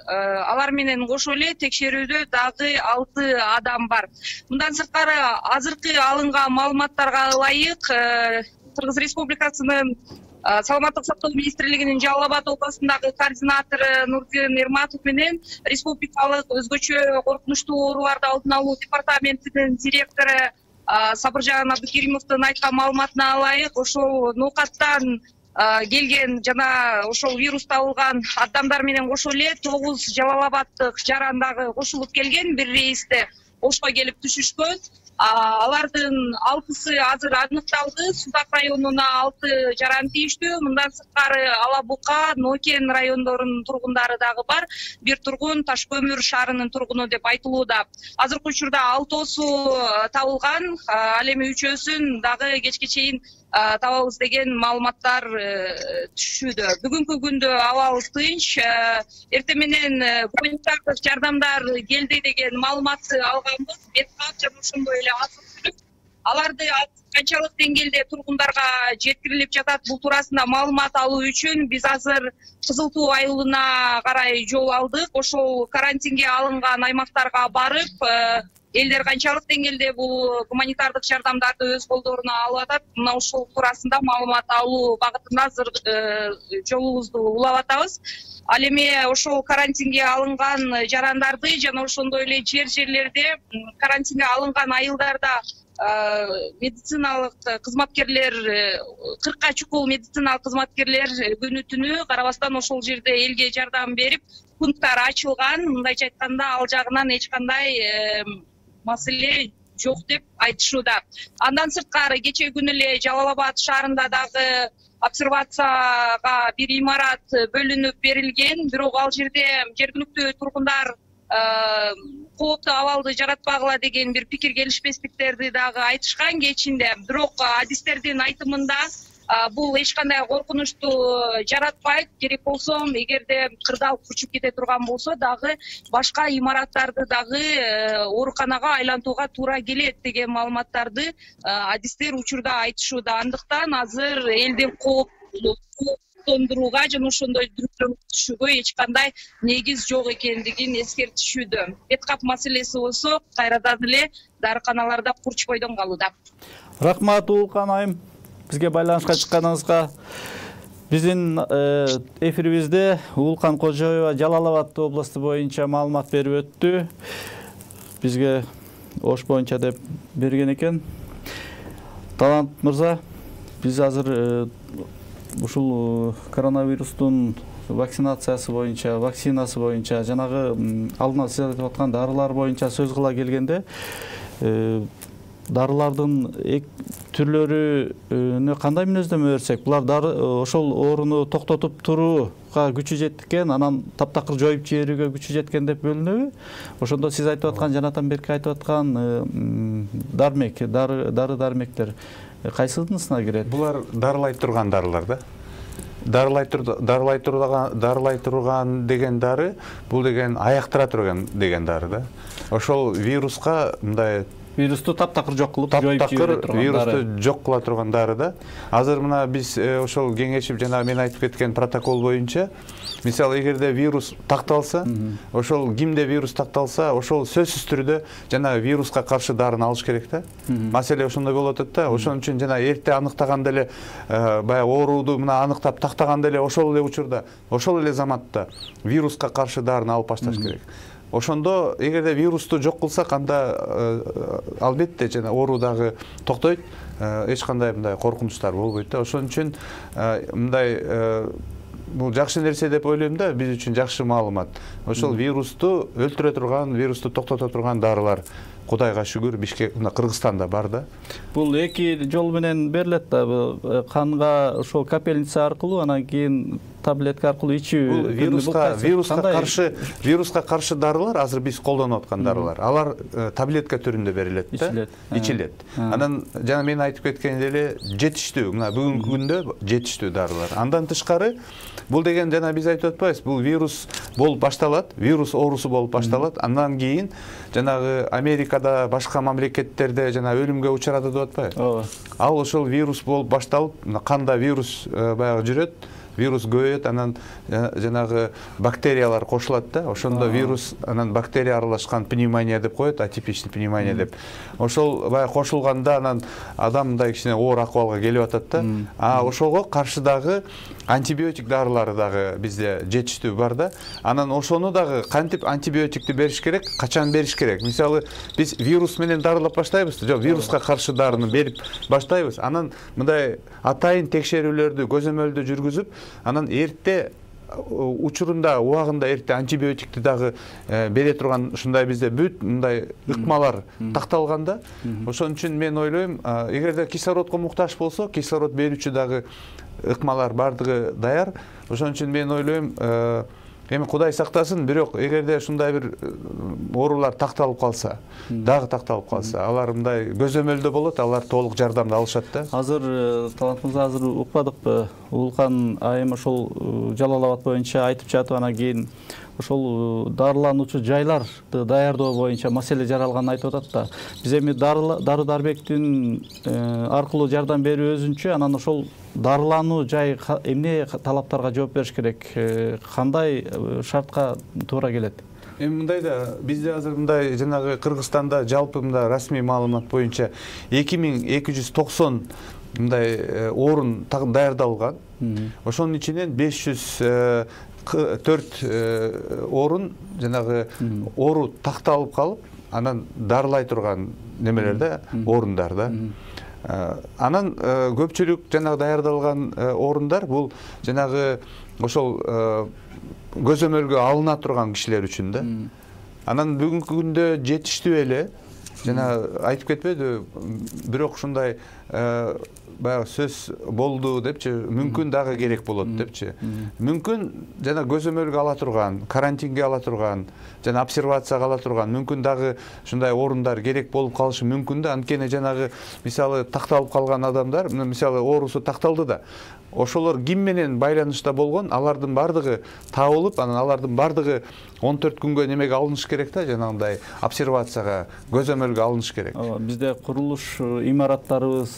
алар менен кошо эле текшерүүдө дагы алты адам бар. Мындан сырткары азыркы алынган маалыматтарга ылайык Кыргыз Республикасынын Саламаттык сактоо министрлигинин Жалал Абад областындагы координатору Нурдин Эрматов менен республикалык өзгөчө коркунучтуу ооруларды алдын алуу департаментинин директору Сабыржан Абдыкеримовдун айткан маалыматына ылайык, ошол ноокаттан келген жана ошол вирус табылган адамдар менен кошо эле тогуз Жалал Абаддык жарандагы кошулуп келген, бир рейсте Ошко келип түшүшкөн. Алардын алтысы азыр аныкталды. Судак районуна алты жаран тийиштүү. Мындан сырткары Ала Бука, Нокен райондорунун тургундары дагы бар. Бир тургун Таш көмүр шаарынын тургуну деп айтылууда. Азыркы учурда алтоосу табылган, ал эми үчөөсүн дагы кечке чейин табабыз деген маалыматтар түшүүдө. Бүгүнкү күндө абал тынч. Эртең менен гуманитардык жардамдар келди деген маалыматты алганбыз. Беткап жана ошондой эле азык-түлүк. Аларды канчалык деңгээлде тургундарга жеткирилип жатат, бул туурасында маалымат алуу үчүн биз азыр Кызыл Туу айылына карай жол алдык. Ошол карантинге алынган аймактарга барып, элдер канчалык деңгээлде бул гуманитардык жардамдарды өз колдоруна алып атат, мына ошол туурасында маалымат алуу багытында азыр жолубузду улап атабыз. Ал эми ошол карантинге алынган жарандарды жана ошондой эле жер жерлерде карантинге алынган айылдарда медициналык кызматкерлер, кыркка чукул медициналык кызматкерлер күнү түнү карабастан ошол жерде элге жардам берип, пункттар ачылган. Мындайча айтканда, ал жагынан эч кандай маселе жок деп айтышууда. Андан сырткары кечээ күнү эле Жалал Абад шаарында дагы обсервацияга бир имарат бөлүнүп берилген, бирок ал жерде жергиликтүү тургундар кооптуу абалды жаратпагыла деген бир пикир келишпестиктерди дагы айтышкан кечинде. Бирок адистердин айтымында бул эч кандай коркунучту жаратпайт. Керек болсо, эгерде кырдаалып учуп кете турган болсо дагы башка имараттарды дагы ооруканага айлантууга туура келет деген маалыматтарды адистер учурда айтышууда. Андыктан азыр элди кооптондурууга жана ошондой дүрүктөргө түшүүгө эч кандай негиз жок экендигин эскертишүүдө. Беткап маселеси болсо кайрадан эле дарыканаларда курч бойдон калууда. Рахмат Уулкан айым. Бизге байланышка чыкканыңызга. Биздин эфирибизде Уулкан Кожоева Жалал Абад областы боюнча маалымат берип өттү. Бизге Ош боюнча деп берген экен. Талант мырза, биз азыр ушул коронавирустун вакцинациясы боюнча, вакцинасы боюнча, жанагы алдына сиз айтып аткан дарылар боюнча сөз кыла келгенде, дарылардын түрлөрүнө кандай мүнөздөмө берсек, булар дары ошол ооруну токтотуп турууга күчү жеткен, анан таптакыр жоюп жиберүүгө күчү жеткен деп бөлүнөбү? Ошондо сиз айтып аткан, жанатан берки айтып аткан дармек, дары дармектер кайсынысына кирет? Булар дарылай турган дарылар да. Дарылай дарылай турган дарылай турган деген дары, бул деген аяктыра турган деген дары да. Ошол вируска мындай вирусту таптакыр жок кылып, жоюп жибере турган дары. Вирусту жок кыла турган дары да. Азыр мына биз ошол кеңешип жана мен айтып кеткен протокол боюнча, мисалы эгерде вирус такталса, ошол кимде вирус такталса, ошол сөзсүз түрдө жана вируска каршы дарыны алыш керек да. Маселе ошондой болуп атат да. Ошон үчүн жана эрте аныктаганда эле баягы ооруду мына аныктап тактаганда эле ошол эле учурда, ошол эле заматта вируска каршы дарыны алып башташ керек. ошондо эгерде вирусту жок кылсак, анда албетте жана оору дагы токтойт, эч кандай мындай коркунучтар болбойт да. Ошон үчүн мындай бул жакшы нерсе деп ойлойм да, биз үчүн жакшы маалымат. Ошол вирусту өлтүрө турган, вирусту токтото турган дарылар Кудайга шүгүр Бишкек, Кыргызстанда бар да. Бул эки жол менен берилет да, канга ошол капельница аркылуу, анан кийин таблетка аркылуу ичүү. Вируска вируска каршы вируска каршы дарылар азыр биз колдонуп аткан дарылар. Алар таблетка түрүндө берилет да, ичилет. Анан жана мен айтып кеткен эле жетиштүү, мына бүгүнкү күндө жетиштүү дарылар. Андан тышкары бул деген жана биз айтып атпайбыз, бул вирус болуп башталат, вирус оорусу болуп башталат. Андан кийин жанагы Америкада, башка мамлекеттерде жана өлүмгө учурады деп атпайбы? Ал ошол вирус болуп башталып, канда вирус баягы жүрөт, вирус көбөйөт, анан жанагы бактериялар кошулат да, ошондо вирус анан бактерия аралашкан пневмония деп коет, атипичный пневмония деп. Ошол баягы кошулганда анан адам мындай кичине оор акыбалга келип атат да. А ошого каршы дагы антибиотик дарылары дагы бизде жетиштүү бар да. Анан ошону дагы кантип антибиотикти бериш керек, качан бериш керек? Мисалы, биз вирус менен дарылап баштайбыз, жок, вируска каршы дарыны берип баштайбыз. Анан мындай атайын текшерүүлөрдү, көзөмөлдү жүргүзүп, анан эрте учурунда, убагында эрте антибиотикти дагы бере турган ушундай бизде бүт мындай ыкмалар такталганда, ошон үчүн мен ойлойм, эгерде кислородко муктаж болсо, кислород берүүчү дагы ыкмалар бардыгы даяр. Ошон үчүн мен ойлойм, эми Кудай сактасын, бирок эгерде ушундай бир оорулар такталып калса, дагы такталып калса, алар мындай көзөмөлдө болот, алар толук жардамды алышат да. Азыр Талант мырза, азыр укпадыкпы? Улукан айым ошол Жалал Абад боюнча айтып жатып, анан кийин ошол дарылануучу жайларды даярдоо боюнча маселе жаралганын айтып атат да. Биз эми дары дарбектин аркылуу жардам берүү өзүнчө, анан ошол дарылануу жай эмне талаптарга жооп бериш керек, кандай шартка туура келет? Эми мындай да, бизде азыр мындай жанагы Кыргызстанда жалпы мындай расмий маалымат боюнча эки миң эки жүз токсон мындай орун даярдалган. Ошонун ичинен беш жүз төрт орун жанагы оору такталып калып, анан дарылай турган немелер да, орундар да. Анан көпчүлүк жанагы даярдалган орундар бул жанагы ошол көзөмөлгө алына турган кишилер үчүн да. Анан бүгүнкү күндө жетиштүү эле, жана айтып кетпедиби, бирок ушундай баягы сөз болду депчи, мүмкүн дагы керек болот депчи. Мүмкүн жана көзөмөлгө ала турган, карантинге ала турган, жана обсервацияга ала турган, мүмкүн дагы ушундай орундар керек болуп калышы мүмкүн да. Анткени жанагы мисалы такталып калган адамдар, мисалы оорусу такталды да, ошолор ким менен байланышта болгон, алардын бардыгы табылып, анан алардын бардыгы он төрт күнгө немеге алыныш керек да, жанагындай обсервацияга, көзөмөлгө алыныш керек. Бизде курулуш имараттарыбыз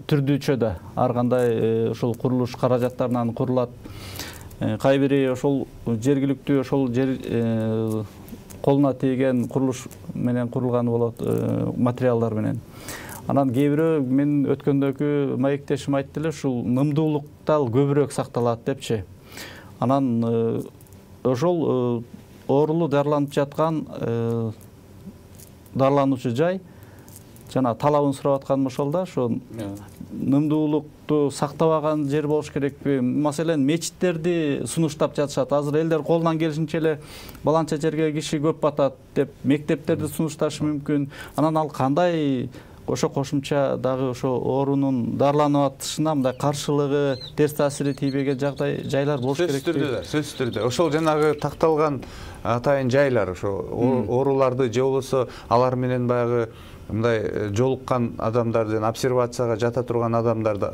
түрдүүчө да, ар кандай ошол курулуш каражаттарынан курулат. Кай бири ошол жергиликтүү ошол жер колуна тийген курулуш менен курулганы болот, материалдар менен. Анан кээ бирөө мен өткөндөгү маектешим айтты эле, ушул нымдуулукта көбүрөөк сакталат депчи. Анан ошол оорулуу дарыланып жаткан дарылануучу жай жана талабын сурап атканым ошол да, ошо нымдуулукту сактабаган жер болуш керекпи? Маселен, мечиттерди сунуштап жатышат. Азыр элдер колунан келишинче эле баланча жерге киши көп батат деп мектептерди сунушташы мүмкүн. Анан ал кандай ошо кошумча дагы ошо оорунун дарыланып атышына мындай каршылыгы, терс таасири тийбеген жагдай жайлар болуш керек. Сөзсүз түрдө, сөзсүз түрдө. Ошол жанагы такталган атайын жайлар, ошо ооруларды же болбосо алар менен баягы мындай жолуккан адамдарды, обсервацияга жата турган адамдарды,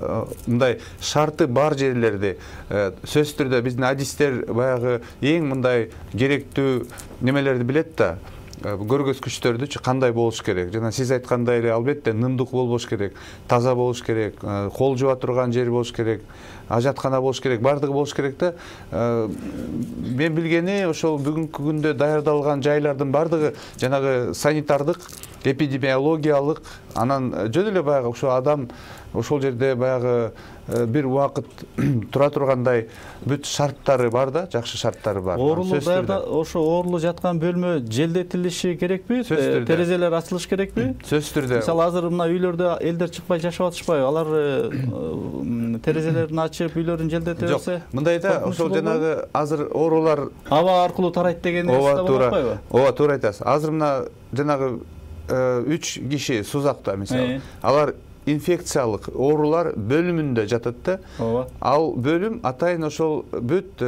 мындай шарты бар жерлерди сөзсүз түрдө биздин адистер баягы эң мындай керектүү немелерди билет да. Көргөзгүчтөрдүчү кандай болуш керек. Жана сиз айткандай эле албетте нымдук болбош керек, таза болуш керек, кол жуа турган жер болуш керек, ажаткана болуш керек, бардыгы болуш керек да. Мен билгени ошол бүгүнкү күндө даярдалган жайлардын бардыгы жанагы санитардык эпидемиологиялык, анан жөн эле баягы ошо адам ошол жерде баягы бир убакыт тура тургандай бүт шарттары бар да, жакшы шарттары бар. Оорулуу даярда ошо оорулуу жаткан бөлмө желдетилиши керекпи? Терезелер ачылыш керекпи? Сөзсүз түрдө. Мисалы азыр мына үйлөрдө элдер чыкпай жашап атышпайбы? Алар терезелерин ачып, үйлөрүн желдете берсе? Жок, мындай да, ошол жанагы азыр оорулар аба аркылуу тарайт деген нерсе да болуп атпайбы? Ооба, туура айтасыз. Азыр мына жанагы үч киши Сузакта мисалы, алар инфекциялык оорулар бөлүмүндө жатат да. Ооба. Ал бөлүм атайын ошол бүт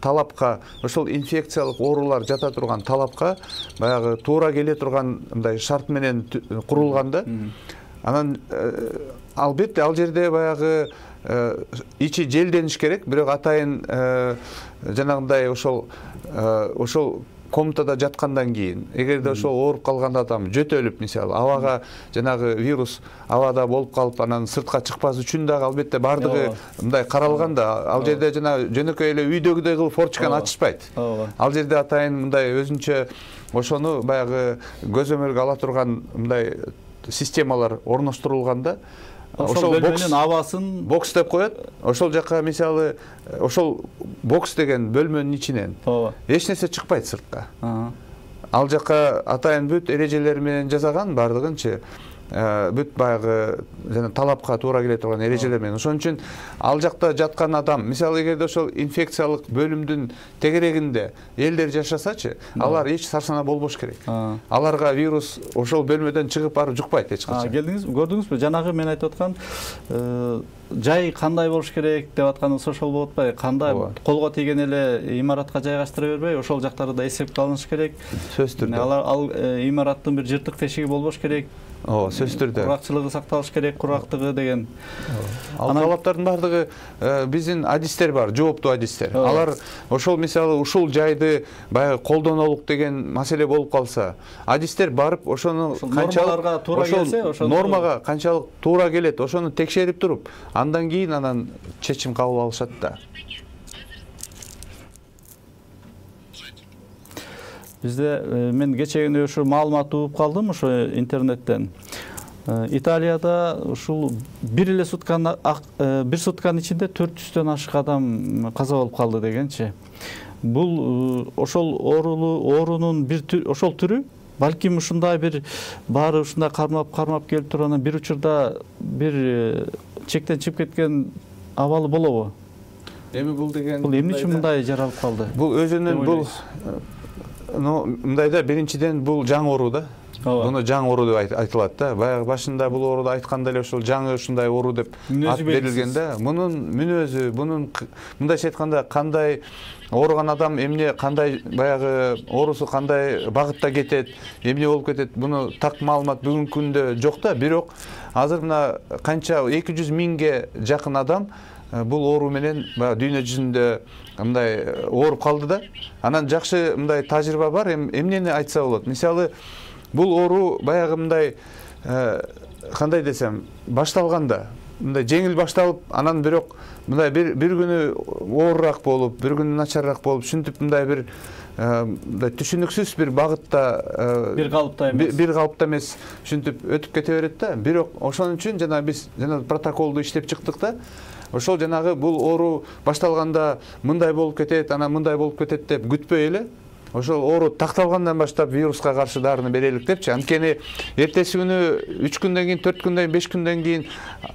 талапка, ошол инфекциялык оорулар жата турган талапка баягы туура келе турган мындай шарт менен курулган да. Анан албетте ал жерде баягы ичи желдениш керек, бирок атайын жанагындай ошол ошол комнатада жаткандан кийин, эгерде ошол ооруп калган адам жөтөлүп, мисалы, абага жанагы вирус абада болуп калып, анан сыртка чыкпас үчүн дагы албетте бардыгы мындай каралган да. Ал жерде жана жөнөкөй эле үйдөгүдөй кылып форточканы ачышпайт. Ал жерде атайын мындай өзүнчө ошону баягы көзөмөлгө ала турган мындай системалар орноштурулган да. Ошол бөлмөнүн абасын бокс деп коет. Ошол жака мисалы ошол бокс деген бөлмөнүн ичинен эч нерсе чыкпайт сыртка. Ал жака атайын бүт эрежелер менен жасаган бардыгынчы. Бүт баягы жана талапка туура келе турган эрежелер менен. Ошон үчүн ал жакта жаткан адам, мисалы эгерде ошол инфекциялык бөлүмдүн тегерегинде элдер жашасачы, алар эч сарсана болбош керек. Аларга вирус ошол бөлмөдөн чыгып барып жукпайт эч качан. Келдиңизби, көрдүңүзбү? Жанагы мен айтып аткан жай кандай болуш керек деп атканыңыз ошол болуп атпайбы? Кандай колго тийген эле имаратка жайгаштыра бербей, ошол жактарды да эсепке алыныш керек. Сөзсүз түрдө. Алар ал имараттын бир жыртык тешиги болбош керек. Ооба, сөзсүз түрдө. Куракчылыгы сакталыш керек, курактыгы деген. Ал талаптардын бардыгы биздин адистер бар, жооптуу адистер. Алар ошол мисалы ушул жайды баягы колдонолук деген маселе болуп калса, адистер барып ошону канчалык туура келсе, ошол нормага канчалык туура келет, ошону текшерип туруп, андан кийин анан чечим кабыл алышат да. Бизде мен кечээ ушу маалымат угуп калдым ошо интернеттен. Италияда ушул бир эле сутканы бир сутканын ичинде төрт жүздөн ашык адам каза болуп калды дегенчи. Бул ошол оорулуу оорунун бир ошол түрү, балким ушундай бир баары ушундай кармап-кармап келип турган бир учурда бир чектен чыгып кеткен абалы болобу? Эми бул деген бул эмне үчүн мындай жаралып калды? Бул өзүнүн бул Ну, мындайда биринчиден бул жаңы оору да. Буну жаңы оору деп айтылат да. Баягы башында бул ооруду айтканда эле ошол жаңы ушундай оору деп ат берилген да. Мунун мүнөзү, бунун мындайча айтканда кандай ооруган адам эмне кандай баягы оорусу кандай багытта кетет, эмне болуп кетет, буну так маалымат бүгүнкү күндө жок да. Бирок азыр мына канча эки жүз миңге жакын адам бул оору менен дүйнө жүзүндө мындай ооруп калды да. Анан жакшы мындай тажрыйба бар. Эмнени айтса болот? Мисалы, бул оору баягы мындай кандай десем, башталганда мындай жеңил башталып, анан бирок мындай бир бир күнү оорураак болуп, бир күнү начарраак болуп, ушинтип мындай бир мындай түшүнүксүз бир багытта, бир калыпта эмес, бир калыпта эмес ушинтип өтүп кете берет да. Бирок ошон үчүн жана биз жана протоколду иштеп чыктык да. Ошол жанагы бул оору башталганда мындай болуп кетет, анан мындай болуп кетет деп күтпөй эле, ошол оору такталгандан баштап вируска каршы дарыны берелик депчи. Анткени эртеси күнү үч күндөн кийин, төрт күндөн кийин, беш күндөн кийин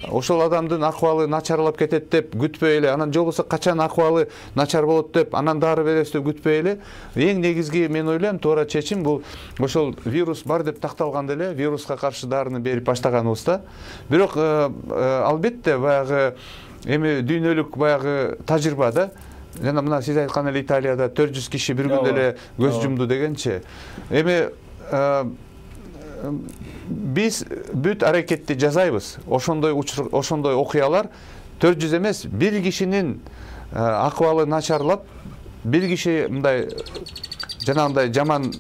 ошол адамдын акыбалы начарлап кетет деп күтпөй эле, анан же болбосо качан акыбалы начар болот деп анан дары беребиз деп күтпөй эле, эң негизги мен ойлойм туура чечим бул ошол вирус бар деп такталганда эле вируска каршы дарыны берип баштаганыбызда. Бирок албетте баягы эми дүйнөлүк баягы тажрыйба да. Жана мына сиз айткан эле Италияда төрт жүз киши бир күндө эле көз жумду дегенчи. Эми биз бүт аракетти жасайбыз. Ошондой ошондой окуялар төрт жүз эмес, бир кишинин акыбалы начарлап, бир киши мындай жанагындай жаман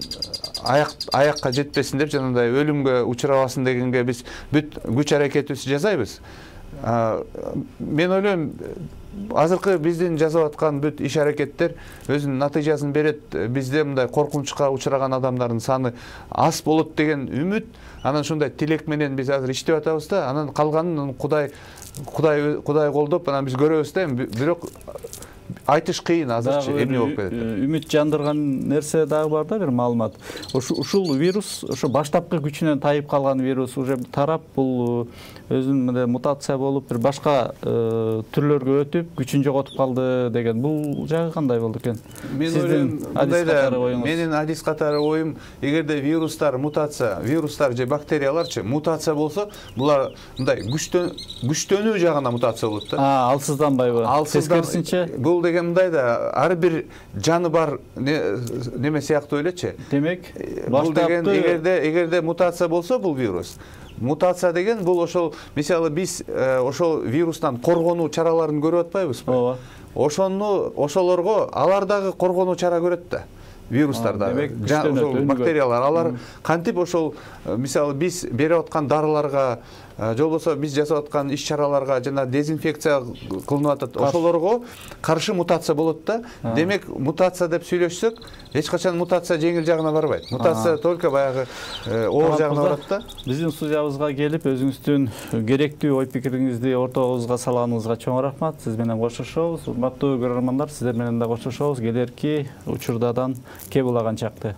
аяк аякка жетпесин деп, жанагындай өлүмгө учурабасын дегенге биз бүт күч аракетибизди жасайбыз. мен ойлойм азыркы биздин жасап аткан бүт иш аракеттер өзүнүн натыйжасын берет. Бизде мындай коркунучка учураган адамдардын саны аз болот деген үмүт, анан ушундай тилек менен биз азыр иштеп атабыз да, анан калганын Кудай Кудай Кудай колдоп, анан биз көрөбүз да, бирок айтыш кыйын азырчы эмне болуп кетет. Үмүт жандырган нерсе дагы бар да, бир маалымат. Ушул вирус, ошо баштапкы күчүнөн тайып калган вирус уже тарап, бул өзүнүн мындай мутация болуп, бир башка түрлөргө өтүп, күчүн жоготуп калды деген. Бул жагы кандай болду экен? Мен ойлойм, мындайда менин адис катары оюм, эгерде вирустар мутация, вирустар же бактерияларчы мутация болсо, булар мындай күчтөнүү жагына мутация болот да. А, алсызданбайбы? Тескерисинче бул деген мындай да, ар бир жаны бар неме сыяктуу элечи. Демек, бул деген эгерде эгерде мутация болсо бул вирус. Мутация деген бул ошол, мисалы биз ошол вирустан коргонуу чараларын көрүп атпайбызбы? Ооба. Ошону ошолорго алар дагы коргонуу чара көрөт да. Вирустар дагы, ошол бактериялар, алар кантип ошол мисалы биз берип аткан дарыларга, же болбосо биз жасап аткан иш-чараларга жана дезинфекция кылынып атат, ошолорго каршы мутация болот да. Демек, мутация деп сүйлөшсөк, эч качан мутация жеңил жагына барбайт. Мутация только баягы оор жагына барат да. Биздин студиябызга келип, өзүңүздүн керектүү ой пикириңизди ортобузга салганыңызга чоң рахмат. Сиз менен коштошобуз. Урматтуу көрөрмандар, сиздер менен да коштошобуз. Келерки учурдадан кеп улаган чакты.